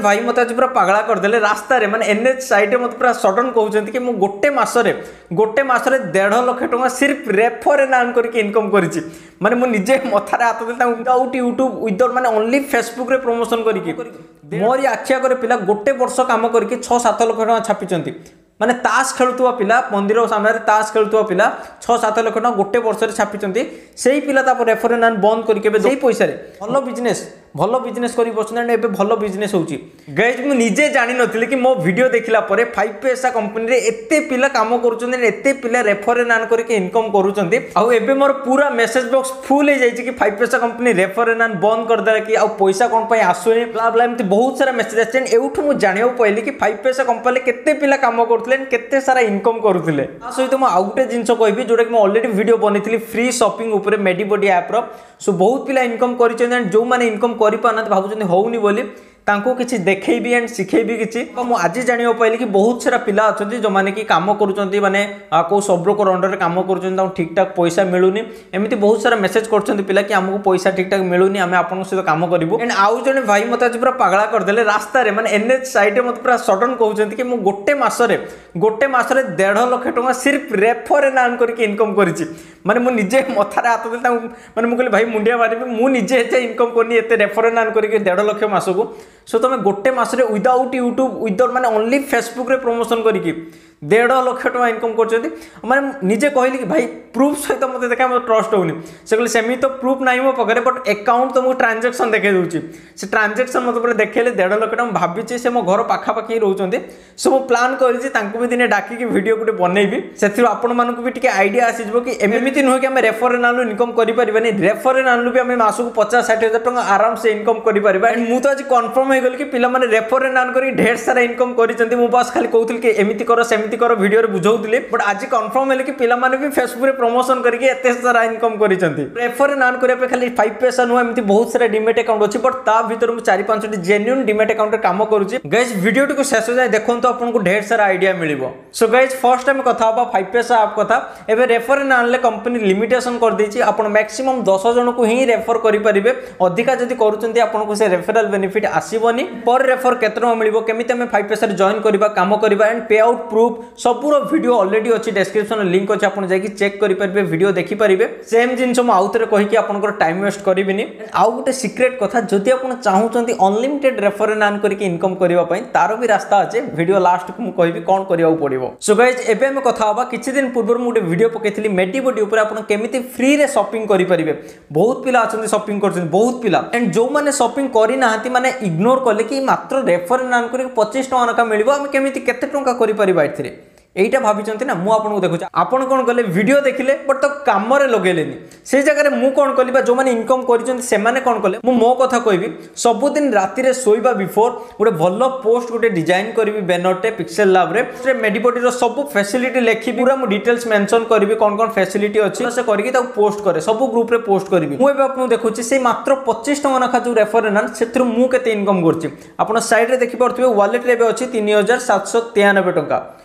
ଭାଇ ମୋତେ ଆଜି ପୁରା ପାଗଳା କରିଦେଲେ ରାସ୍ତାରେ, ମାନେ ଏନ୍ଏଚ୍ ସାଇଡ଼୍ରେ ମୋତେ ପୁରା ସଡନ୍ କହୁଛନ୍ତି କି ମୁଁ ଗୋଟେ ମାସରେ 1.5 ଲକ୍ଷ ଟଙ୍କା ସିର୍ଫ ରେଫର ଆଣ୍ଡ ଆର୍ନ କରିକି ଇନକମ୍ କରିଛି। ମାନେ ମୁଁ ନିଜେ ମଥାରେ ହାତ ଦେଲି ତାଙ୍କୁ, ୱିଦାଉଟ୍ ୟୁଟ୍ୟୁବ୍, ୱିଦାଉଟ୍ ମାନେ ଓନ୍ଲି ଫେସବୁକ୍ରେ ପ୍ରମୋସନ୍ କରିକି ମୋରି ଆଖି ଆଗରେ ପିଲା ଗୋଟେ ବର୍ଷ କାମ କରିକି 6-7 ଲକ୍ଷ ଟଙ୍କା ଛାପିଛନ୍ତି। ମାନେ ତାସ ଖେଳୁଥିବା ପିଲା, ମନ୍ଦିର ସାମ୍ନାରେ ତାସ ଖେଳୁଥିବା ପିଲା 6-7 ଲକ୍ଷ ଟଙ୍କା ଗୋଟେ ବର୍ଷରେ ଛାପିଛନ୍ତି। ସେଇ ପିଲା ତାପରେ ରେଫର ଆଣ୍ଡ ବନ୍ଦ କରିକି ଏବେ ସେଇ ପଇସାରେ ଭଲ ବିଜନେସ୍ କରି ବସୁଛନ୍ତି and ଏବେ ଭଲ ବିଜନେସ୍ ହେଉଛି। ଗାଇଜ୍, ମୁଁ ନିଜେ ଜାଣିନଥିଲି କି ମୋ ଭିଡ଼ିଓ ଦେଖିଲା ପରେ ଫାଇଭ୍ ପଇସା କମ୍ପାନୀରେ ଏତେ ପିଲା କାମ କରୁଛନ୍ତି and ଏତେ ପିଲା ରେଫର ଆଣ୍ଡ କରିକି ଇନକମ୍ କରୁଛନ୍ତି। ଆଉ ଏବେ ମୋର ପୁରା ମେସେଜ ବକ୍ସ ଫୁଲ୍ ହେଇଯାଇଛି କି ଫାଇଭ୍ ପଇସା କମ୍ପାନୀ ରେଫର ଆଣ୍ଡ ବନ୍ଦ କରିଦେଲା କି, ଆଉ ପଇସା କ'ଣ ପାଇଁ ଆସୁନି, ବ୍ଲା ବ୍ଲା, ଏମିତି ବହୁତ ସାରା ମେସେଜ ଆସିଛି। And ଏଇଠୁ ମୁଁ ଜାଣିବାକୁ ପାଇଲି କି ଫାଇଭ୍ ପଇସା କମ୍ପାନୀରେ କେତେ ପିଲା କାମ କରୁଥିଲେ and କେତେ ସାରା ଇନକମ୍ କରୁଥିଲେ। ତା ସହିତ ମୁଁ ଆଉ ଗୋଟେ ଜିନିଷ କହିବି, ଯୋଉଟାକି ମୁଁ ଅଲରେଡ଼ି ଭିଡ଼ିଓ ବନେଇଥିଲି ଫ୍ରି ସପିଂ ଉପରେ ମେଡିବଡି ଆପ୍ର। ସୋ ବହୁତ ପିଲା ଇନକମ୍ କରିଛନ୍ତି ଆଣ୍ଡ ଯେଉଁମାନେ ଇନକମ୍ କରିପାରୁନାହାନ୍ତି, ଭାବୁଛନ୍ତି ହଉନି ବୋଲି, ତାଙ୍କୁ କିଛି ଦେଖେଇବି ଆଣ୍ଡ ଶିଖେଇବି କିଛି। ତ ମୁଁ ଆଜି ଜାଣିବାକୁ ପାଇଲି କି ବହୁତ ସାରା ପିଲା ଅଛନ୍ତି ଯେଉଁମାନେ କି କାମ କରୁଛନ୍ତି, ମାନେ କେଉଁ ସବ୍ ବ୍ରୋକର ଅଣ୍ଡରରେ କାମ କରୁଛନ୍ତି, ତାଙ୍କୁ ଠିକ୍ ଠାକ୍ ପଇସା ମିଳୁନି। ଏମିତି ବହୁତ ସାରା ମେସେଜ କରୁଛନ୍ତି ପିଲା କି ଆମକୁ ପଇସା ଠିକ୍ ଠାକ୍ ମିଳୁନି, ଆମେ ଆପଣଙ୍କ ସହିତ କାମ କରିବୁ। ଆଣ୍ଡ ଆଉ ଜଣେ ଭାଇ ମୋତେ ଆଜି ପୁରା ପାଗଳା କରିଦେଲେ ରାସ୍ତାରେ, ମାନେ ଏନ୍ଏଚ୍ ସାଇଡ଼୍ରେ ମୋତେ ପୁରା ସଡନ୍ କହୁଛନ୍ତି କି ମୁଁ ଗୋଟେ ମାସରେ 1.5 ଲକ୍ଷ ଟଙ୍କା ସିର୍ଫ ରେଫର ଆଣ୍ଡ ଆର୍ନ କରିକି ଇନକମ୍ କରିଛି। ମାନେ ମୁଁ ନିଜେ ମଥାରେ ହାତ ଦେଲି ତାଙ୍କୁ, ମାନେ ମୁଁ କହିଲି, ଭାଇ, ମୁଣ୍ଡିଆ ମାରିବି, ମୁଁ ନିଜେ ଏତେ ଇନକମ୍ କରିନି ଏତେ ରେଫର ଆଣ୍ଡ ଆର୍ନ କରିକି 1.5 ଲକ୍ଷ ମାସକୁ। ସୋ ତମେ ଗୋଟେ ମାସରେ ୱିଦାଉଟ୍ ୟୁଟ୍ୟୁବ୍, ୱିଦାଉଟ୍ ମାନେ ଓନ୍ଲି ଫେସବୁକ୍ରେ ପ୍ରମୋସନ୍ କରିକି 1.5 ଲକ୍ଷ ଟଙ୍କା ଇନକମ୍ କରୁଛନ୍ତି। ମାନେ ନିଜେ କହିଲି କି ଭାଇ, ପ୍ରୁଫ୍ ସହିତ ମୋତେ ଦେଖା, ମୋତେ ଟ୍ରଷ୍ଟ ହେଉନି। ସେ କହିଲେ, ସେମିତି ତ ପ୍ରୁଫ୍ ନାହିଁ ମୋ ପାଖରେ, ବଟ୍ ଆକାଉଣ୍ଟ ତୁମକୁ ଟ୍ରାଞ୍ଜାକ୍ସନ୍ ଦେଖାଇ ଦେଉଛି। ସେ ଟ୍ରାଞ୍ଜାକ୍ସନ୍ ମୋତେ ପୁରା ଦେଖେଇଲେ 1.5 ଲକ୍ଷ ଟଙ୍କା। ମୁଁ ଭାବିଛି ସେ ମୋ ଘର ପାଖାପାଖି ହିଁ ରହୁଛନ୍ତି। ସୋ ମୁଁ ପ୍ଲାନ୍ କରିଛି ତାଙ୍କୁ ବି ଦିନେ ଡାକିକି ଭିଡ଼ିଓ ଗୋଟେ ବନେଇବି। ସେଥିରୁ ଆପଣମାନଙ୍କୁ ବି ଟିକେ ଆଇଡ଼ିଆ ଆସିଯିବ କି ଏମିତି ନୁହେଁ କି ଆମେ ରେଫର ଆଣିଲୁ ଇନକମ୍ କରିପାରିବାନି। ରେଫର ଆଣିଲୁ ବି ଆମେ ମାସକୁ 50-60 ହଜାର ଟଙ୍କା ଆରାମସେ ଇନକମ୍ କରିପାରିବା। And ମୁଁ ତ ଆଜି କନଫର୍ମ ହେଇଗଲି କି ପିଲାମାନେ ରେଫର ଆର୍ନ କରିକି ଢେର ସାରା ଇନକମ୍ କରିଛନ୍ତି। ମୁଁ ବାସ୍ ଖାଲି କହୁଥିଲି କି ଏମିତି କର, ସେମିତି କର, ଭିଡ଼ିଓରେ ବୁଝାଉଥିଲି, ବଟ୍ ଆଜି କନଫର୍ମ ହେଲି କି ପିଲାମାନେ ବି ଫେସବୁକରେ ପ୍ରମୋସନ କରିକି ଏତେ ସାରା ଇନକମ୍ କରିଛନ୍ତି। ରେଫର ଆର୍ନ କରିବା ପାଇଁ ଖାଲି ଫାଇଭ୍ ପଇସା ନୁହଁ, ଏମିତି ବହୁତ ସାରା ଡିମେଟ୍ ଆକାଉଣ୍ଟ ଅଛି, ବଟ୍ ତା ଭିତରୁ ମୁଁ ଚାରି ପାଞ୍ଚଟି ଜେନ୍ୟୁନ୍ ଡିମେଟ୍ ଆକାଉଣ୍ଟରେ କାମ କରୁଛି। ଗାଇଜ୍, ଭିଡ଼ିଓଟିକୁ ଶେଷ ଯାଏଁ ଦେଖନ୍ତୁ, ଆପଣଙ୍କୁ ଢେର ସାରା ଆଇଡ଼ିଆ ମିଳିବ। ସୋ ଗାଇଜ୍, ଫର୍ଷ୍ଟ ଆମେ କଥା ହେବା ଫାଇଭ୍ ପଇସା ଆପ୍ କଥା। ଏବେ ରେଫର ଆଣିଲେ କମ୍ପାନୀ ଲିମିଟେସନ୍ କରିଦେଇଛି, ଆପଣ ମ୍ୟାକ୍ସିମମ୍ 10 ଜଣକୁ ହିଁ ରେଫର କରିପାରିବେ। ଅଧିକା ଯଦି କରୁଛନ୍ତି, ଆପଣଙ୍କୁ ସେ ରେଫରାଲ ବେନିଫିଟ୍ ଆସିବନି। ପର ରେଫର କେତେ ଟଙ୍କା ମିଳିବ, କେମିତି ଆମେ ଫାଇଭ୍ ପଇସାରେ ଜଏନ୍ କରିବା, କାମ କରିବା ଆଣ୍ଡ ପେ ଆଉଟ୍ ପ୍ରୁଫ୍ ସବୁର ଭିଡ଼ିଓ ଅଲରେଡ଼ି ଅଛି। ଡେସ୍କ୍ରିପସନରେ ଲିଙ୍କ୍ ଅଛି, ଆପଣ ଯାଇକି ଚେକ୍ କରିପାରିବେ, ଭିଡ଼ିଓ ଦେଖିପାରିବେ। ସେମ୍ ଜିନିଷ ମୁଁ ଆଉଥରେ କହିକି ଆପଣଙ୍କର ଟାଇମ୍ ୱେଷ୍ଟ କରିବିନି। ଆଉ ଗୋଟେ ସିକ୍ରେଟ୍ କଥା, ଯଦି ଆପଣ ଚାହୁଁଛନ୍ତି ଅନଲିମିଟେଡ୍ ରେଫର ଆର୍ନ କରିକି ଇନକମ୍ କରିବା ପାଇଁ, ତାର ବି ରାସ୍ତା ଅଛି। ଭିଡ଼ିଓ ଲାଷ୍ଟକୁ ମୁଁ କହିବି କ'ଣ କରିବାକୁ ପଡ଼ିବ। ସୋ ଗାଇଜ୍, ଏବେ ଆମେ କଥା ହେବା, କିଛି ଦିନ ପୂର୍ବରୁ ମୁଁ ଗୋଟେ ଭିଡ଼ିଓ ପକେଇଥିଲି ମେଡିବଡି ଉପରେ, ଆପଣ କେମିତି ଫ୍ରିରେ ସପିଂ କରିପାରିବେ। ବହୁତ ପିଲା ଅଛନ୍ତି ସପିଂ କରୁଛନ୍ତି, ବହୁତ ପିଲା। ଆଣ୍ଡ ଯେଉଁମାନେ ସପିଂ କରିନାହାନ୍ତି, ମାନେ ଇଗ୍ନୋର କଲେ କି ମାତ୍ର ରେଫର ଆର୍ନ କରିକି 25 ଟଙ୍କା ଲେଖା ମିଳିବ, ଆମେ କେମିତି କେତେ ଟଙ୍କା କରିପାରିବା ଏଥିରେ, ଏଇଟା ଭାବିଛନ୍ତି ନା? ମୁଁ ଆପଣଙ୍କୁ ଦେଖୁଛି, ଆପଣ କ'ଣ କଲେ? ଭିଡ଼ିଓ ଦେଖିଲେ ବଟ୍ ତ କାମରେ ଲଗେଇଲେନି। ସେଇ ଜାଗାରେ ମୁଁ କ'ଣ କଲି ବା ଯେଉଁମାନେ ଇନକମ୍ କରିଛନ୍ତି ସେମାନେ କ'ଣ କଲେ, ମୁଁ ମୋ କଥା କହିବି। ସବୁଦିନ ରାତିରେ ଶୋଇବା ବିଫୋର୍ ଗୋଟେ ଭଲ ପୋଷ୍ଟ ଗୋଟେ ଡିଜାଇନ୍ କରିବି ବ୍ୟାନରଟେ ପିକ୍ସେଲ ଲାବ୍ରେ, ସେ ମେଡିବଡିର ସବୁ ଫ୍ୟାସିଲିଟି ଲେଖିବି, ପୁରା ମୁଁ ଡିଟେଲ୍ସ ମେନସନ୍ କରିବି କ'ଣ କ'ଣ ଫ୍ୟାସିଲିଟି ଅଛି, ସେ କରିକି ତାକୁ ପୋଷ୍ଟ କରେ, ସବୁ ଗ୍ରୁପରେ ପୋଷ୍ଟ କରିବି। ମୁଁ ଏବେ ଆପଣଙ୍କୁ ଦେଖୁଛି ସେଇ ମାତ୍ର 25 ଟଙ୍କା ଲେଖା ଯେଉଁ ରେଫର ଆର୍ନ, ସେଥିରୁ ମୁଁ କେତେ ଇନକମ୍ କରୁଛି। ଆପଣ ସାଇଡ଼୍ରେ ଦେଖିପାରୁଥିବେ, ୱାଲେଟ୍ରେ ଏବେ ଅଛି 3793 ଟଙ୍କା।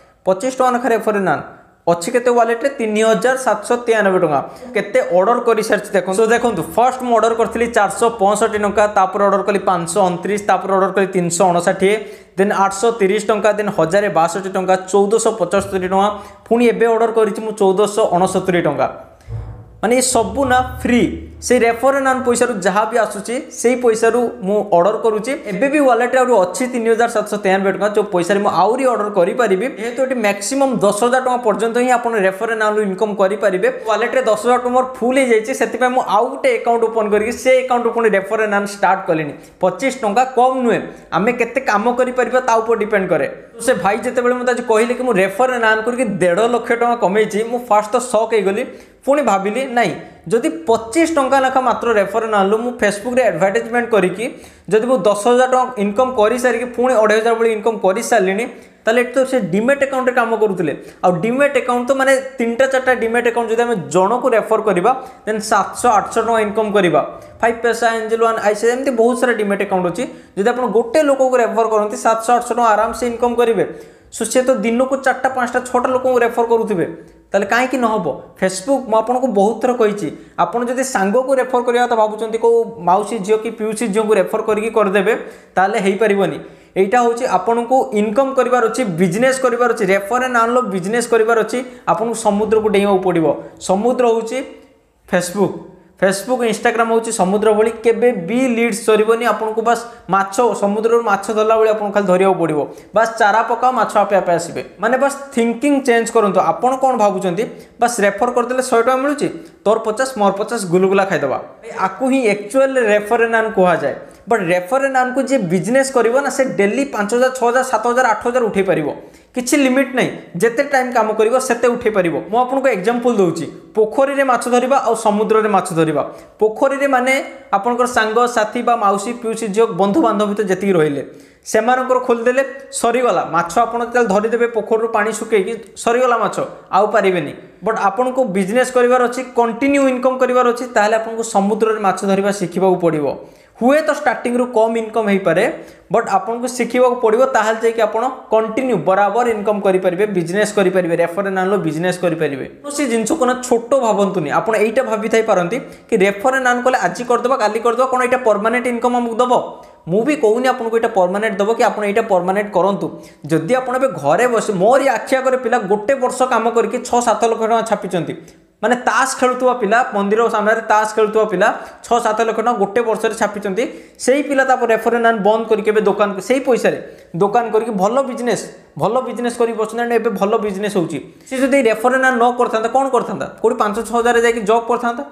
25 ଟଙ୍କା ଲେଖା ରେଫର ଆର୍ନ ଅଛି, କେତେ ୱାଲେଟ୍ରେ? 3793 ଟଙ୍କା। କେତେ ଅର୍ଡର କରିସାରିଛି ଦେଖନ୍ତୁ। ତ ଦେଖନ୍ତୁ, ଫର୍ଷ୍ଟ ମୁଁ ଅର୍ଡର କରିଥିଲି 465 ଟଙ୍କା, ତାପରେ ଅର୍ଡର କଲି 529, ତାପରେ ଅର୍ଡର କଲି 359, ଦେନ୍ 830 ଟଙ୍କା, ଦେନ୍ 1062 ଟଙ୍କା, 1475 ଟଙ୍କା, ପୁଣି ଏବେ ଅର୍ଡର କରିଛି ମୁଁ 1469 ଟଙ୍କା। ମାନେ ଏ ସବୁ ନା ଫ୍ରି। ସେଇ ରେଫର ଆର୍ନ ପଇସାରୁ ଯାହା ବି ଆସୁଛି, ସେଇ ପଇସାରୁ ମୁଁ ଅର୍ଡର କରୁଛି। ଏବେ ବି ୱାଲେଟ୍ରେ ଆହୁରି ଅଛି 3793 ଟଙ୍କା, ଯେଉଁ ପଇସାରେ ମୁଁ ଆହୁରି ଅର୍ଡର କରିପାରିବି। ଯେହେତୁ ଏଠି ମ୍ୟାକ୍ସିମମ୍ 10,000 ଟଙ୍କା ପର୍ଯ୍ୟନ୍ତ ହିଁ ଆପଣ ରେଫର ଆର୍ନରୁ ଇନକମ୍ କରିପାରିବେ, ୱାଲେଟ୍ରେ 10,000 ଟଙ୍କା ମୋର ଫୁଲ୍ ହେଇଯାଇଛି। ସେଥିପାଇଁ ମୁଁ ଆଉ ଗୋଟେ ଆକାଉଣ୍ଟ ଓପନ୍ କରିକି ସେ ଆକାଉଣ୍ଟରୁ ପୁଣି ରେଫର ଆର୍ନ ଷ୍ଟାର୍ଟ କଲିଣି। 25 ଟଙ୍କା କମ୍ ନୁହେଁ, ଆମେ କେତେ କାମ କରିପାରିବା ତା ଉପରେ ଡିପେଣ୍ଡ କରେ। ସେ ଭାଇ ଯେତେବେଳେ ମୋତେ ଆଜି କହିଲେ କି ମୁଁ ରେଫର ଆର୍ନ କରିକି 1.5 ଲକ୍ଷ ଟଙ୍କା କମେଇଛି, ମୁଁ ଫାର୍ଷ୍ଟ ତ ସକ୍ ହେଇଗଲି। ପୁଣି ଭାବିଲି, ନାଇଁ, ଯଦି 25 ଟଙ୍କା ଲେଖା ମାତ୍ର ରେଫର ଆଣିଲୁ, ମୁଁ ଫେସବୁକ୍ରେ ଆଡ଼ଭର୍ଟାଇଜମେଣ୍ଟ କରିକି ଯଦି ମୁଁ 10,000 ଟଙ୍କା ଇନକମ୍ କରିସାରିକି ପୁଣି 2500 ଭଳି ଇନକମ୍ କରିସାରିଲିଣି, ତାହେଲେ ଏଠି ତ ସେ ଡିମେଟ୍ ଆକାଉଣ୍ଟରେ କାମ କରୁଥିଲେ। ଆଉ ଡିମେଟ୍ ଆକାଉଣ୍ଟ ତ ମାନେ ତିନିଟା ଚାରିଟା ଡିମେଟ୍ ଆକାଉଣ୍ଟ ଯଦି ଆମେ ଜଣକୁ ରେଫର କରିବା, ଦେନ୍ 700-800 ଟଙ୍କା ଇନକମ୍ କରିବା। ଫାଇଭ୍ ପଇସା, ଏଞ୍ଜେଲ ୱାନ୍, ଆଇସି, ଏମିତି ବହୁତ ସାରା ଡିମେଟ୍ ଆକାଉଣ୍ଟ ଅଛି। ଯଦି ଆପଣ ଗୋଟେ ଲୋକକୁ ରେଫର କରନ୍ତି, 700-800 ଟଙ୍କା ଆରାମସେ ଇନକମ୍ କରିବେ। ସୋ ସେ ତ ଦିନକୁ ଚାରିଟା, ପାଞ୍ଚଟା, ଛଅଟା ଲୋକଙ୍କୁ ରେଫର କରୁଥିବେ, ତାହେଲେ କାହିଁକି ନ ହେବ? ଫେସବୁକ୍ ମୁଁ ଆପଣଙ୍କୁ ବହୁତ ଥର କହିଛି, ଆପଣ ଯଦି ସାଙ୍ଗକୁ ରେଫର କରିବା କଥା ଭାବୁଛନ୍ତି, କେଉଁ ମାଉସୀ ଝିଅ କି ପିଉସୀ ଝିଅଙ୍କୁ ରେଫର କରିକି କରିଦେବେ, ତାହେଲେ ହେଇପାରିବନି। ଏଇଟା ହେଉଛି ଆପଣଙ୍କୁ ଇନକମ୍ କରିବାର ଅଛି, ବିଜନେସ୍ କରିବାର ଅଛି, ରେଫର ଆଣ୍ଡ ଆର୍ନର ବିଜନେସ୍ କରିବାର ଅଛି, ଆପଣଙ୍କୁ ସମୁଦ୍ରକୁ ଡେଇଁବାକୁ ପଡ଼ିବ। ସମୁଦ୍ର ହେଉଛି ଫେସବୁକ୍, ଫେସବୁକ୍ ଇନଷ୍ଟାଗ୍ରାମ ହେଉଛି ସମୁଦ୍ର ଭଳି, କେବେ ବି ଲିଡ୍ସ ସରିବନି। ଆପଣଙ୍କୁ ବାସ୍ ମାଛ, ସମୁଦ୍ରରୁ ମାଛ ଧରିଲା ଭଳି ଆପଣଙ୍କୁ ଖାଲି ଧରିବାକୁ ପଡ଼ିବ। ବାସ୍ ଚାରା ପକାଅ, ମାଛ ଆପେ ଆପେ ଆସିବେ। ମାନେ ବାସ୍ ଥିଙ୍କିଂ ଚେଞ୍ଜ କରନ୍ତୁ। ଆପଣ କ'ଣ ଭାବୁଛନ୍ତି, ବାସ୍ ରେଫର କରିଦେଲେ 100 ଟଙ୍କା ମିଳୁଛି, ତୋର 50 ମୋର 50, ଗୁଲୁଗୁଲା ଖାଇଦେବା। ଆକୁ ହିଁ ଆକ୍ଚୁଆଲି ରେଫର ଆଣ୍ଡ ଆର୍ନ କୁହାଯାଏ। ବଟ୍ ରେଫର ଆଣ୍ଡ ଆର୍ନକୁ ଯିଏ ବିଜନେସ୍ କରିବ ନା, ସେ ଡେଲି 5000, 6000, 7000, 8000 ଉଠେଇ ପାରିବ। କିଛି ଲିମିଟ୍ ନାହିଁ, ଯେତେ ଟାଇମ୍ କାମ କରିବ ସେତେ ଉଠେଇ ପାରିବ। ମୁଁ ଆପଣଙ୍କୁ ଏକ୍ଜାମ୍ପଲ୍ ଦେଉଛି, ପୋଖରୀରେ ମାଛ ଧରିବା ଆଉ ସମୁଦ୍ରରେ ମାଛ ଧରିବା। ପୋଖରୀରେ ମାନେ ଆପଣଙ୍କର ସାଙ୍ଗସାଥି ବା ମାଉସୀ, ପିଉସୀ ଝିଅ, ବନ୍ଧୁବାନ୍ଧବ ଭିତରେ ଯେତିକି ରହିଲେ ସେମାନଙ୍କର ଖୋଲିଦେଲେ ସରିଗଲା ମାଛ। ଆପଣ ଯେତେବେଳେ ଧରିଦେବେ ପୋଖରୀରୁ ପାଣି ଶୁଖେଇକି, ସରିଗଲା ମାଛ, ଆଉ ପାରିବେନି। ବଟ୍ ଆପଣଙ୍କୁ ବିଜନେସ୍ କରିବାର ଅଛି, କଣ୍ଟିନ୍ୟୁ ଇନକମ୍ କରିବାର ଅଛି, ତାହେଲେ ଆପଣଙ୍କୁ ସମୁଦ୍ରରେ ମାଛ ଧରିବା ଶିଖିବାକୁ ପଡ଼ିବ। ହୁଏତ ଷ୍ଟାର୍ଟିଂରୁ କମ୍ ଇନକମ୍ ହେଇପାରେ, ବଟ୍ ଆପଣଙ୍କୁ ଶିଖିବାକୁ ପଡ଼ିବ, ତାହେଲେ ଯାଇକି ଆପଣ କଣ୍ଟିନ୍ୟୁ ବରାବର ଇନକମ୍ କରିପାରିବେ, ବିଜନେସ୍ କରିପାରିବେ, ରେଫର ଆଣ୍ଡ ଆର୍ନର ବିଜନେସ୍ କରିପାରିବେ। କୌଣସି ଜିନିଷକୁ ନା ଛୋଟ ଭାବନ୍ତୁନି। ଆପଣ ଏଇଟା ଭାବିଥାଇ ପାରନ୍ତି କି ରେଫର ଆଣ୍ଡ ଆର୍ନ କଲେ ଆଜି କରିଦେବା, କାଲି କରିଦେବା, କ'ଣ ଏଇଟା ପରମାନେଣ୍ଟ ଇନକମ୍ ଆମକୁ ଦେବ? ମୁଁ ବି କହୁନି ଆପଣଙ୍କୁ ଏଇଟା ପରମାନେଣ୍ଟ ଦେବ କି ଆପଣ ଏଇଟା ପରମାନେଣ୍ଟ କରନ୍ତୁ। ଯଦି ଆପଣ ଏବେ ଘରେ ବସି, ମୋରି ଆଖି ଆଗରେ ପିଲା ଗୋଟେ ବର୍ଷ କାମ କରିକି 6-7 ଲକ୍ଷ ଟଙ୍କା ଛାପିଛନ୍ତି। ମାନେ ତାସ ଖେଳୁଥିବା ପିଲା, ମନ୍ଦିର ସାମ୍ନାରେ ତାସ ଖେଳୁଥିବା ପିଲା 6-7 ଲକ୍ଷ ଟଙ୍କା ଗୋଟେ ବର୍ଷରେ ଛାପିଛନ୍ତି। ସେଇ ପିଲା ତାପରେ ରେଫର ଆଣ୍ଡ ଆର୍ନ ବନ୍ଦ କରିକି ଏବେ ଦୋକାନ, ସେଇ ପଇସାରେ ଦୋକାନ କରିକି ଭଲ ବିଜନେସ୍ କରିକି ବସୁଛନ୍ତି। ଏବେ ଭଲ ବିଜନେସ୍ ହେଉଛି। ସେ ଯଦି ରେଫର ଆଣ୍ଡ ଆର୍ନ ନ କରିଥାନ୍ତା, କ'ଣ କରିଥାନ୍ତା? କେଉଁଠି 5-6 ହଜାର ଯାଇକି ଜବ୍ କରିଥାନ୍ତା।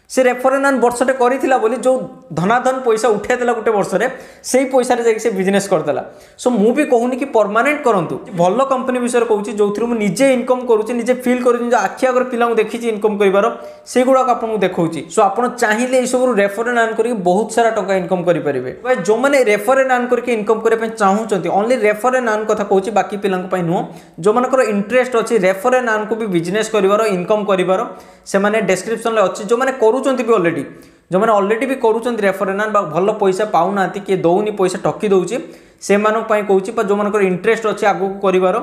ସେ ରେଫର ଆଣ୍ଡ ଆର୍ନ ବର୍ଷଟେ କରିଥିଲା ବୋଲି ଯେଉଁ ଧନାଧନ ପଇସା ଉଠାଇ ଦେଲା ଗୋଟେ ବର୍ଷରେ, ସେଇ ପଇସାରେ ଯାଇକି ସେ ବିଜନେସ୍ କରିଦେଲା। ସୋ ମୁଁ ବି କହୁନି କି ପରମାନେଣ୍ଟ କରନ୍ତୁ। ଭଲ କମ୍ପାନୀ ବିଷୟରେ କହୁଛି, ଯେଉଁଥିରୁ ମୁଁ ନିଜେ ଇନକମ୍ କରୁଛି, ନିଜେ ଫିଲ୍ କରୁଛି, ନିଜ ଆଖି ଆଗରେ ପିଲାଙ୍କୁ ଦେଖିଛି ଇନକମ୍ କରିବାର, ସେଇଗୁଡ଼ାକ ଆପଣଙ୍କୁ ଦେଖାଉଛି। ସୋ ଆପଣ ଚାହିଁଲେ ଏଇସବୁରୁ ରେଫର ଆଣ୍ଡ ଆର୍ନ କରିକି ବହୁତ ସାରା ଟଙ୍କା ଇନକମ୍ କରିପାରିବେ। ଯେଉଁମାନେ ରେଫର ଆଣ୍ଡ ଆର୍ନ କରିକି ଇନକମ୍ କରିବା ପାଇଁ ଚାହୁଁଛନ୍ତି, ଓନ୍ଲି ରେଫର ଆଣ୍ଡ ଆର୍ନ କଥା କହୁଛି, ବାକି ପିଲାଙ୍କ ପାଇଁ ନୁହଁ। ଯେଉଁମାନଙ୍କର ଇଣ୍ଟରେଷ୍ଟ ଅଛି ରେଫର ଆଣ୍ଡ ଆର୍ନକୁ ବି ବିଜନେସ୍ କରିବାର, ଇନକମ୍ କରିବାର, ସେମାନେ ଡେସ୍କ୍ରିପସନ୍ରେ ଅଛି। ଯେଉଁମାନେ କରୁଛନ୍ତି ବି ଅଲରେଡ଼ି, ଯେଉଁମାନେ ଅଲରେଡ଼ି ବି କରୁଛନ୍ତି ରେଫର ଆଣ୍ଡ ଆର୍ନ ବା ଭଲ ପଇସା ପାଉନାହାନ୍ତି, କିଏ ଦେଉନି ପଇସା, ଠକି ଦେଉଛି, ସେମାନଙ୍କ ପାଇଁ କହୁଛି। ବା ଯେଉଁମାନଙ୍କର ଇଣ୍ଟରେଷ୍ଟ ଅଛି ଆଗକୁ କରିବାର,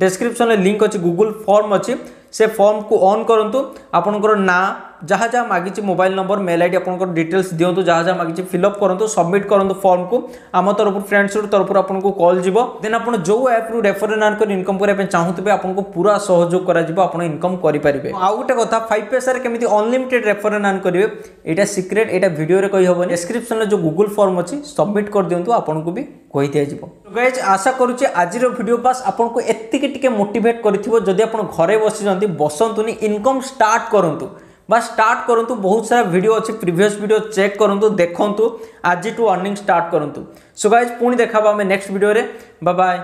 ଡେସ୍କ୍ରିପସନ୍ରେ ଲିଙ୍କ୍ ଅଛି, ଗୁଗୁଲ୍ ଫର୍ମ ଅଛି, ସେ ଫର୍ମକୁ ଅନ୍ କରନ୍ତୁ। ଆପଣଙ୍କର ନାଁ ଯାହା ଯାହା ମାଗିଛି, ମୋବାଇଲ ନମ୍ବର, ମେଲ୍ ଆଇଡି, ଆପଣଙ୍କର ଡିଟେଲ୍ସ ଦିଅନ୍ତୁ। ଯାହା ଯାହା ମାଗିଛି ଫିଲ୍ଅପ୍ କରନ୍ତୁ, ସବମିଟ୍ କରନ୍ତୁ ଫର୍ମକୁ। ଆମ ତରଫରୁ, ଫ୍ରେଣ୍ଡସ୍ ତରଫରୁ ଆପଣଙ୍କୁ କଲ୍ ଯିବ। ଦେନ୍ ଆପଣ ଯେଉଁ ଆପ୍ରୁ ରେଫର ଆଣ୍ଡ କରି ଇନକମ୍ କରିବା ପାଇଁ ଚାହୁଁଥିବେ, ଆପଣଙ୍କୁ ପୁରା ସହଯୋଗ କରାଯିବ, ଆପଣ ଇନକମ୍ କରିପାରିବେ। ଆଉ ଗୋଟେ କଥା, 5 ପଇସାରେ କେମିତି ଅନଲିମିଟେଡ୍ ରେଫର ଆଣ୍ଡ ଆର୍ନ କରିବେ, ଏଇଟା ସିକ୍ରେଟ୍, ଏଇଟା ଭିଡ଼ିଓରେ କହିହେବନି। ଡେସ୍କ୍ରିପସନ୍ରେ ଯେଉଁ ଗୁଗୁଲ୍ ଫର୍ମ ଅଛି, ସବମିଟ୍ କରିଦିଅନ୍ତୁ, ଆପଣଙ୍କୁ ବି କହିଦିଆଯିବ। ଗାଇଜ୍, ଆଶା କରୁଛି ଆଜିର ଭିଡ଼ିଓ ବାସ୍ ଆପଣଙ୍କୁ ଏତିକି ଟିକେ ମୋଟିଭେଟ୍ କରିଥିବ। ଯଦି ଆପଣ ଘରେ ବସିଛନ୍ତି, ବସନ୍ତୁନି, ଇନକମ୍ ଷ୍ଟାର୍ଟ କରନ୍ତୁ ବା ଷ୍ଟାର୍ଟ କରନ୍ତୁ। ବହୁତ ସାରା ଭିଡ଼ିଓ ଅଛି, ପ୍ରିଭିୟସ୍ ଭିଡ଼ିଓ ଚେକ୍ କରନ୍ତୁ, ଦେଖନ୍ତୁ, ଆଜିଠୁ ଅର୍ଣ୍ଣିଂ ଷ୍ଟାର୍ଟ କରନ୍ତୁ। ସୋ ଗାଇଜ୍, ପୁଣି ଦେଖାହେବା ଆମେ ନେକ୍ସଟ ଭିଡ଼ିଓରେ। ବାଏ।